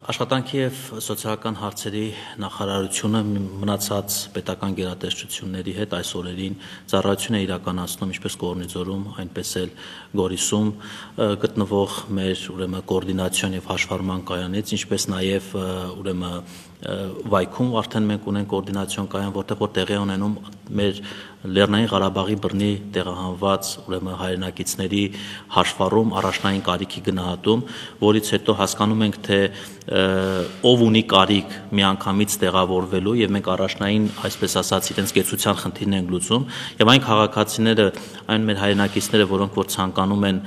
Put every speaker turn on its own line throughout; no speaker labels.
Աշխատանքի և սոցիալական հարցերի նախարարությունը մնացած պետական գերատեսչությունների հետ այս օրերին ծառայություն է իրականացնում ինչպես Կորնիձորում, այնպես էլ Գորիսում գտնվող մեր կոորդինացիոն և հաշվառման կայանից, ինչպես նաև Վայքում արդեն մենք ունենք կոորդինացիոն կայան, որտեղ որ տեղի ունենում մեր Լեռնային Ղարաբաղի բռնի տեղահանված հայրենակիցների հաշվառում, առաջնային կարիքի գնահատում, որից հետո հասկանում ենք, թե ով ունի կարիք միանգամից տեղավորվելու եւ մենք առաջնային, այսպես ասած, իրենց կեցության խնդիրն ենք լուծում եւ այն քաղաքացիները, այն մեր հայրենակիցները, որոնք որ ցանկանում են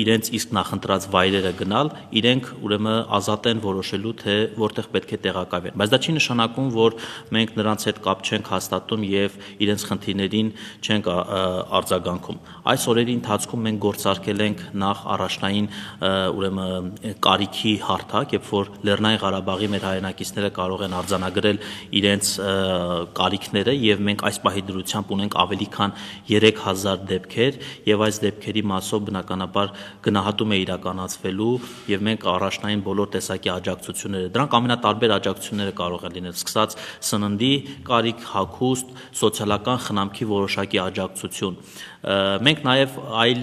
իրենց իսկ նախընտրած վայրերը գնալ, իրենք ուրեմն ազատ են որոշելու, թե որտեղ պետք է տեղակայվեն, բայց դա չի նշանակում, որ մենք նրանց հետ կապ չենք հաստատում եւ իրենց խնդիրներին չենք արձագանքում։ Այս օրերի ընթացքում մենք գործարկել ենք նախ առաջնային կարիքի հարթակ, երբ որ Լեռնային Ղարաբաղի մեր հայրենակիցները կարող են արձանագրել իրենց կարիքները եւ մենք այս պահի դրությամբ ունենք ավելի քան 3000 դեպքեր եւ այս դեպքերի մասով բնականաբար գնահատում է իրականացվելու եւ մենք առաջնային բոլոր տեսակի աջակցությունները, դրանք ամենատարբեր աջակցությունները կարող են լինել, սկսած սննդի կարիք, հագուստ, սոցիալական խնամքի որոշակի աջակցություն։ Մենք նաև այլ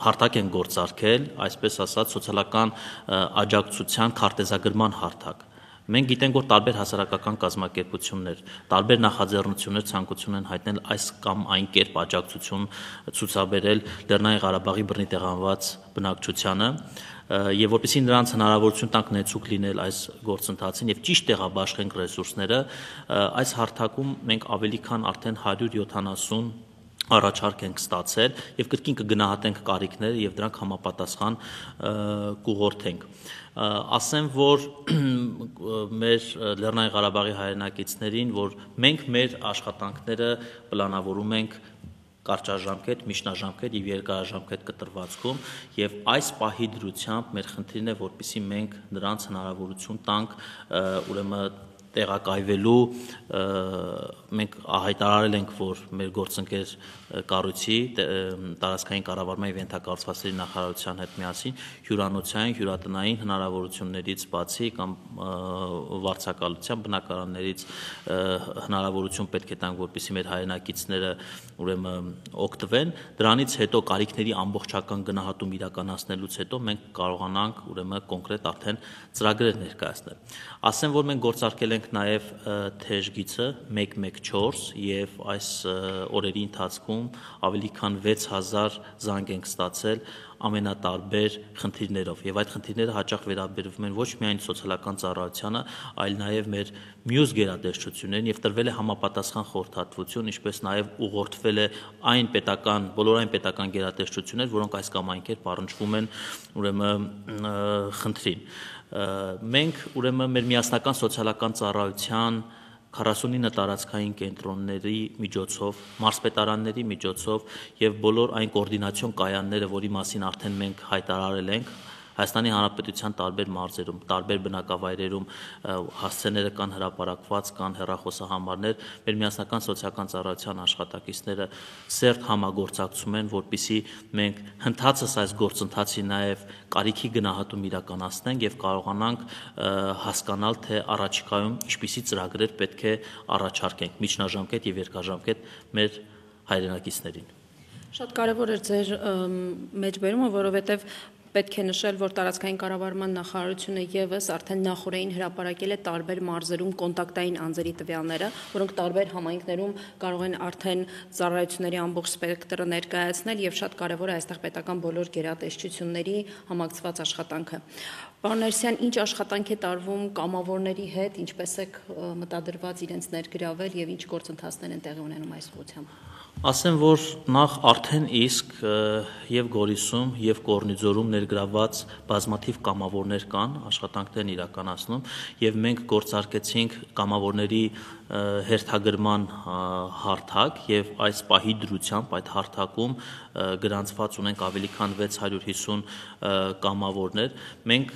հարթակ են գործարկել, այսպես ասած, սոցիալական աջակցության քարտեզագրման հարթակ։ Մենք գիտենք, որ տարբեր հասարակական կազմակերպություններ, տարբեր նախաձեռնություններ ցանկություն են հայտնել այս կամ այն կերպ աջակցություն ցուցաբերել Լեռնային Ղարաբաղի բռնի տեղահանված բնակչությանը եւ որպեսզի նրանց հնարավորություն տանք նեցուկ լինել այս գործընթացին եւ ճիշտ տեղաբաշխենք ռեսուրսները, այս հարթակում մենք ավելի քան արդեն 170 առաջարկ ենք ստացել եւ կրկին կգնահատենք կարիքները եւ դրանք համապատասխան կուղղորդենք։ Ասեմ, որ մեր Լեռնային Ղարաբաղի հայրենակիցներին, որ մենք մեր աշխատանքները պլանավորում ենք կարճաժամկետ, միջնաժամկետ եւ երկարաժամկետ կտրվածքում եւ այս պահի դրությամբ մեր խնդիրն է, որպեսզի մենք նրանց հնարավորություն տանք տեղակայվելու, մենք հայտարարել ենք, որ մեր գործընկեր կառույցի տարածքային կառավարման եւ ենթակառուցվածքների նախարարության հետ միասին հյուրանոցային, հյուրատնային հնարավորություններից բացի կամ վարձակալության բնակարաններից հնարավորություն պետք է տանք, որպեսզի մեր հայրենակիցները օգտվեն, դրանից հետո կարիքների ամբողջական գնահատում իրականացնելուց հետո մենք կարողանանք կոնկրետ արդեն ծրագրեր ներկայացնել։ Ասեմ, որ մենք գործարկել ենք նաև թեժգիծը 114 եւ այս օրերի ընթացքում ավելի քան 6000 զանգ ենք ստացել ամենատարբեր խնդիրներով եւ այդ խնդիրները հաճախ վերաբերվում են ոչ միայն սոցիալական ծառայությանը, այլ նաեւ մեր մյուս գերատեսչություններին եւ տրվել է համապատասխան խորհրդատվություն, ինչպես նաեւ ուղղորդվել է բոլոր այն պետական գերատեսչություններ, որոնք այս կամ այն կերպ առնչվում են խնդրին։ Մենք մեր միասնական սոցիալական ծառայության 49 տարածքային կենտրոնների միջոցով, մարզպետարանների միջոցով եւ բոլոր այն կոորդինացիոն կայանները, որի մասին արդեն մենք հայտարարել ենք, Հայաստանի Հանրապետության տարբեր մարզերում, տարբեր բնակավայրերում հասցեները կան հրապարակված, կան հեռախոսահամարներ, մեր միասնական սոցիալական ծառայության աշխատակիցները սերտ համագործակցում են, որպեսզի մենք հնդածս այս գործընթացի նաև կարիքի գնահատում իրականացնենք եւ կարողանանք հասկանալ, թե առաջիկայում ինչպիսի ծրագրեր պետք է առաջարկենք միջնաժամկետ եւ երկարաժամկետ մեր հայրենակիցներին։
Շատ կարևոր էր ձեր մեջբերումը, որովհետեւ պետք է նշել, որ տարածքային կառավարման նախարարությունը եւս արդեն նախորդին հրապարակել է տարբեր մարզերում կոնտակտային անձերի տվյալները, որոնք տարբեր համայնքներում կարող են արդեն ծառայությունների ամբողջ սպեկտրը ներկայացնել եւ շատ կարեւոր է այստեղ պետական բոլոր գերատեսչությունների համակցված աշխատանքը։ Պարոն Ներսյան, ինչ աշխատանք է տարվում կամավորների հետ, ինչպես է մտադրված իրենց ներգրավել եւ ինչ գործընթացներ են տեղի ունենում այս ուղղությամբ։
Ասեմ, որ նախ արդեն իսկ եւ Գորիսում եւ Կորնիձորում ներգրաված բազմաթիվ կամավորներ կան, աշխատանքներ իրականացնում եւ մենք գործարկեցինք կամավորների հերթագրման հարթակ եւ այս պահի դրությամբ այդ հարթակում գրանցված ունենք ավելի քան 650 կամավորներ։ Մենք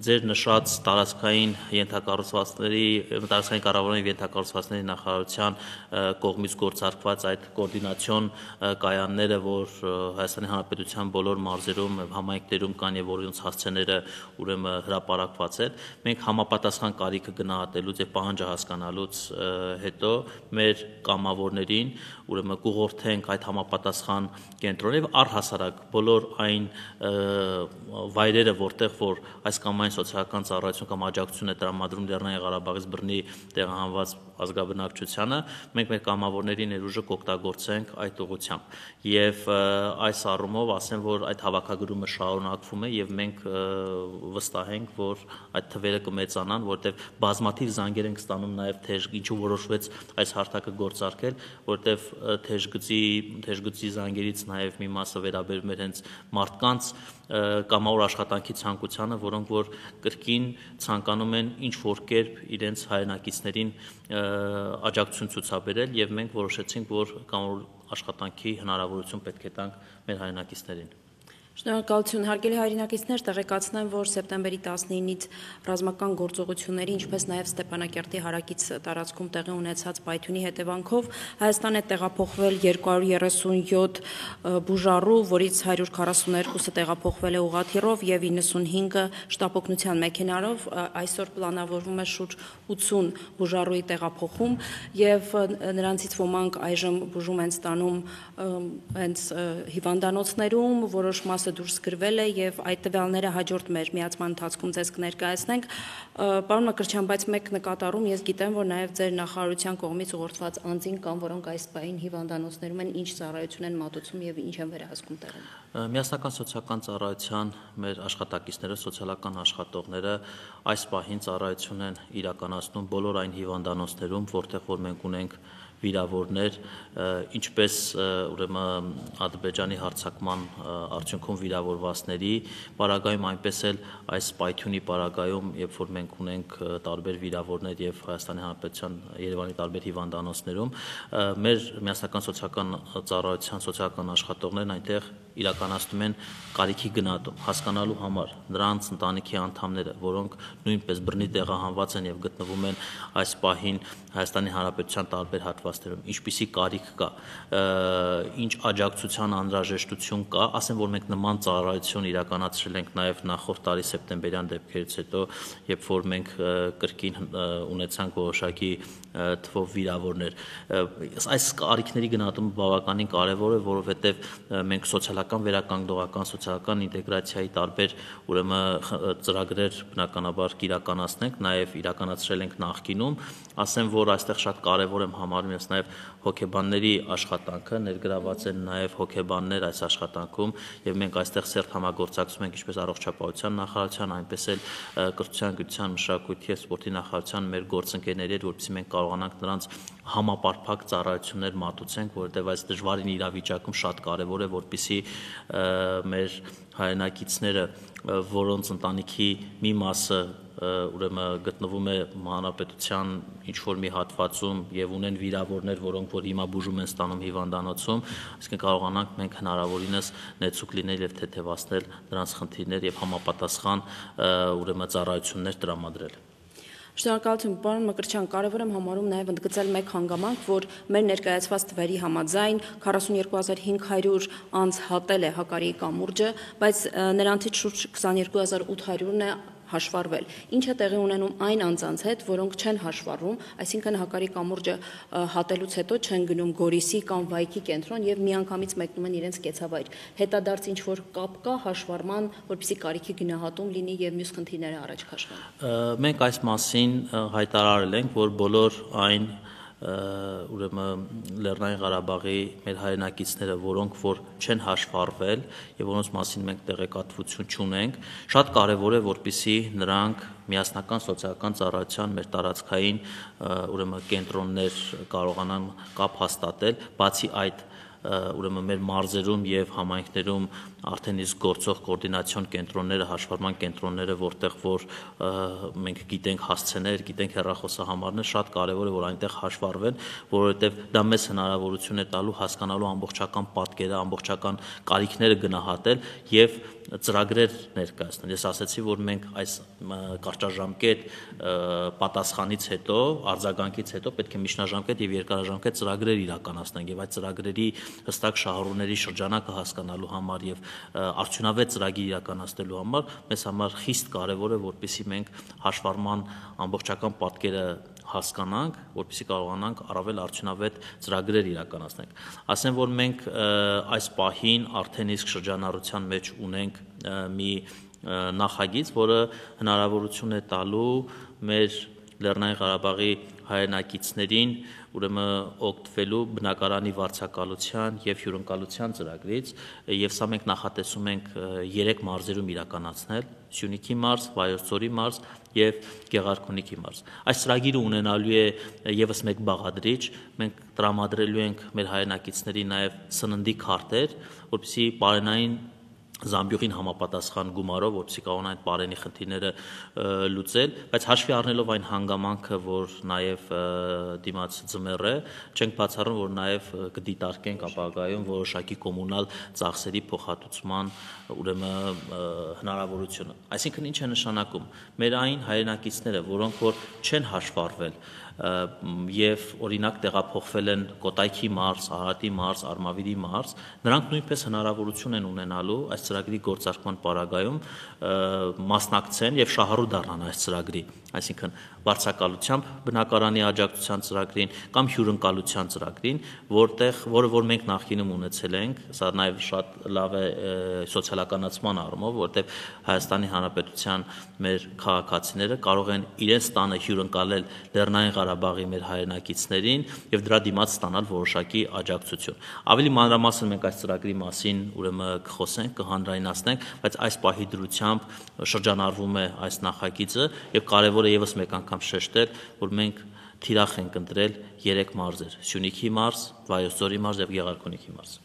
ձեր նշած տարածքային տարածքային կառավարման ենթակառուցվածքների նախարարության կողմից գործարկված այդ կոորդինացիոն կայանները, որ Հայաստանի Հանրապետության բոլոր մարզերում, համայնքներում կան եւ որոնց հասցեները ուրեմն հրապարակված են, մենք համապատասխան կարիքը գնահատելուց եւ պահանջը հասկանալուց հետո մեր կամավորներին ուրեմն կուղղորդենք այդ համապատասխան կենտրոնը եւ առհասարակ բոլոր այն վայրերը, որտեղ որ այս կամ այն սոցիալական ծառայություն կամ աջակցություն է տրամադրում Լեռնային Ղարաբաղից բռնի տեղահանված ազգաբնակչությանը, մենք մեր կամավորների ներուժը կօգտագործենք այդ ուղղությամբ եւ այս առումով ասեմ, որ այդ հավաքագրումը շարունակվում է եւ մենք վստահ ենք, որ այդ թվերը կմեծանան, որտեղ բազմաթիվ զանգեր ենք ստանում նաեւ թեժ, ինչու որոշվեց այս հարթակը գործարկել, որտեղ թեժգծի զանգերից նաեւ մի մասը վերաբերում էր հենց մարդկանց կամավոր աշխատանքի ցանկությանը, որոնք որ կրկին ցանկանում են ինչ-որ կերպ իրենց հայրենակիցներին աջակցություն ցուցաբերել եւ մենք որոշեցինք, որ կամավոր աշխատանքի հնարավորություն պետք է տանք մեր հայրենակիցներին։
Շնորհակալություն, հարգելի հայրենակիցներ, տեղեկացնեմ, որ սեպտեմբերի 19-ից ռազմական գործողությունների, ինչպես նաև Ստեփանակերտի հարակից տարածքում տեղի ունեցած պայթյունի հետևանքով Հայաստան է տեղափոխվել 237 բուժառու, որից 142-ը տեղափոխվել է ուղղաթիռով եւ 95-ը շտապօգնության մեքենայով։ Այսօր պլանավորվում է շուրջ 80 բուժառուի տեղափոխում եւ նրանցից ոմանք այժմ բուժում են ստանում հենց հիվանդանոցներում, որոշ մասը դուրս գրվել է եւ այդ տվյալները հաջորդ մեր միացման ընթացքում ձեզ կներկայացնենք։ Պարոն Մկրտչյան, բայց մեկ նկատառում ես գիտեմ, որ նաեւ ձեր նախարարության կողմից ուղղորդված անձին կան, որոնք այս պահին հիվանդանոցներում են, ինչ ծառայություն են մատուցում եւ ինչ են վերահսկում տեղում։
Միասնական սոցիալական ծառայության մեր աշխատակիցները, սոցիալական աշխատողները այս պահին ծառայություն են իրականացնում բոլոր այն հիվանդանոցներում, որտեղ որ մենք ունենք վիրավորներ, ինչպես ուրեմն Ադրբեջանի հարձակման արդյունքում վիրավորվածների պարագայում, այնպես էլ այս պայթյունի պարագայում, երբ որ մենք ունենք տարբեր վիրավորներ եւ Հայաստանի Հանրապետության Երևանի տարբեր հիվանդանոցներում, մեր միասնական սոցիալական ծառայության սոցիալական աշխատողներն այնտեղ իրականացնում են կարիքի գնահատում, հասկանալու համար նրանց ընտանիքի անդամները, որոնք նույնպես բռնի տեղահանված են եւ գտնվում են այս պահին Հայաստանի Հանրապետության տարբեր հատվածներում, ինչպիսի կարիք կա, ինչ աջակցության անհրաժեշտություն կա, ասեմ, որ մենք նման ծառայություն իրականացրել ենք նաեւ նախորդ տարի սեպտեմբերյան դեպքերից հետո, երբ որ մենք կրկին ունեցանք որոշակի թվով վիրավորներ։ Այս կարիքների գնահատումը բավականին կարեւոր է, որովհետեւ մենք սոցիալական վերականգնողական, սոցիալական ինտեգրացիայի տարբեր ուրեմն ծրագրեր բնականաբար կիրականացնենք, նաեւ իրականացրել ենք նախկինում, ասեմ, որ այստեղ շատ կարեւոր եմ համարում ես նաեւ հոգեբանների աշխատանքը, ներգրաված են նաեւ հոգեբաններ այս աշխատանքում եւ մենք այստեղ սերտ համագործակցում ենք ինչպես առողջապահության նախարարության, այնպես էլ կրթության, գիտության, մշակույթի եւ սպորտի նախարարության մեր գործընկերների հետ, որովհետեւ մենք կարողանանք նրանց համապարփակ ծառայություններ մատուցենք, որովհետեւ այս դժվարին իրավիճակում շատ կարեւոր է, որպեսզի մեր հայրենակիցները, որոնց ընտանիքի մի մասը ուրեմն գտնվում է հանրապետության ինչ-որ մի հատվածում եւ ունեն վիրավորներ, որոնք որ հիմա բուժում են ստանում հիվանդանոցում, այսինքն կարողանանք մենք հնարավորինս նեցուկ լինել եւ թեթեվացնել նրանց խնդիրներ եւ համապատասխան ուրեմն ծառայություններ տրամադրել։
Շնորհակալություն, պարոն Մկրտչյան, կարևոր եմ համարում նաև ընդգծել մեկ հանգամանք, որ մեր ներկայացված թվերի համաձայն 42500 անձ հատել է հակարիի կամուրջը, բայց նրանցից շուրջ 22800-ն է հաշվառվել։ Ինչ է տեղի ունենում այն անձանց հետ, որոնք չեն հաշվառվում, այսինքն հակարի կամուրջը հատելուց հետո չեն գնում Գորիսի կամ Վայքի կենտրոն եւ միանգամից մեկնում են իրենց կեցավայր։ Հետադարձ ինչ որ կապ կա հաշվառման, որպեսզի կարիքի գնահատում լինի եւ մյուս խնդիրները առաջ քաշվեն։
Մենք այս մասին հայտարարել ենք, որ բոլոր այն ուրեմն Լեռնային Ղարաբաղի մեր հայրենակիցները, որոնք որ չեն հաշվառվել եւ որոնց մասին մենք տեղեկատվություն չունենք, շատ կարեւոր է, որպեսզի նրանք միասնական սոցիալական ծառայության մեր տարածքային ուրեմն կենտրոններ կարողանան կապ հաստատել, բացի այդ ուրեմն մեր մարզերում եւ համայնքներում արդեն իսկ գործող կոորդինացիոն կենտրոնները, հաշվառման կենտրոնները, որտեղ որ մենք գիտենք հասցեներ, գիտենք հեռախոսահամարներ, շատ կարևոր է որ այնտեղ հաշվառվեն, որովհետև դա մեզ հնարավորություն է տալու հասկանալու ամբողջական պատկերը, ամբողջական կարիքները գնահատել եւ ծրագրեր ներկայացնել։ Ես ասացի, որ մենք այս կարճաժամկետ պատասխանից հետո, արձագանքից հետո պետք է միջնաժամկետ եւ երկարաժամկետ ծրագրեր իրականացնենք եւ այդ ծրագրերի հստակ շահառուների շրջանակը հասկանալու համար եւ արդյունավետ ծրագիր իրականացնելու համար մեզ համար խիստ կարեւոր է, որպեսզի մենք հաշվառման ամբողջական պատկերը հասկանանք, որպեսզի կարողանանք առավել արդյունավետ ծրագրեր իրականացնենք։ Ասեմ, որ մենք այս պահին արդեն իսկ շրջանառության մեջ ունենք մի նախագիծ, որը հնարավորություն է տալու մեր Լեռնային Ղարաբաղի հայրենակիցներին ուրեմն օգտվելու բնակարանի վարձակալության եւ հյուրընկալության ծրագրից եւ սա մենք նախատեսում ենք 3 մարզերում իրականացնել՝ Սյունիքի մարզ, Վայոց ձորի մարզ եւ Գեղարքունիքի մարզ։ Այս ծրագիրը ունենալու է եւս մեկ բաղադրիչ, մենք տրամադրելու ենք մեր հայրենակիցներին նաեւ սննդի քարտեր, որպեսզի պարենային Զամբյուղին համապատասխան գումարով, որպեսզի կարողանան այդ պարենի խնդիրները լուծել, բայց հաշվի առնելով այն հանգամանքը, որ նաև դիմաց ձմեռ է, չենք բացառում, որ նաև կդիտարկենք ապագայում որոշակի կոմունալ ծախսերի փոխհատուցման ուրեմն հնարավորությունը։ Այսինքն ինչ է նշանակում։ Մեր այն հայրենակիցները, որոնք որ չեն հաշվառվել եւ օրինակ տեղափոխվել են Կոտայքի մարզ, Արարատի մարզ, Արմավիրի մարզ, նրանք նույնպես հնարավորություն են ունենալու այս ծրագրի գործարկման պարագայում մասնակցեն եւ շահառու դառնան այս ծրագրի, այսինքն վարձակալությամբ բնակարանի աջակցության ծրագրին կամ հյուրընկալության ծրագրին, որը որ մենք նախկինում ունեցել ենք, սա նաեւ շատ լավ է սոցիալականացման առումով, որտեղ Հայաստանի Հանրապետության մեր քաղաքացիները կարող են իրենց տանը հյուրընկալել Լեռնային Ղարաբաղի մեր հայրենակիցներին եւ դրա դիմաց ստանալ որոշակի աջակցություն։ Ավելի մանրամասն մենք այս ծրագրի մասին ուրեմն կխոսենք, կհանրայնացնենք, բայց այս պահի դրությամբ շրջանառվում է այս նախագիծը եւ կարեւոր է եւս մեկ անգամ շեշտել, որ մենք թիրախ ենք ընտրել 3 մարզեր՝ Սյունիքի մարզ, Վայոց ձորի մարզ եւ Գեղարքունիքի մարզ։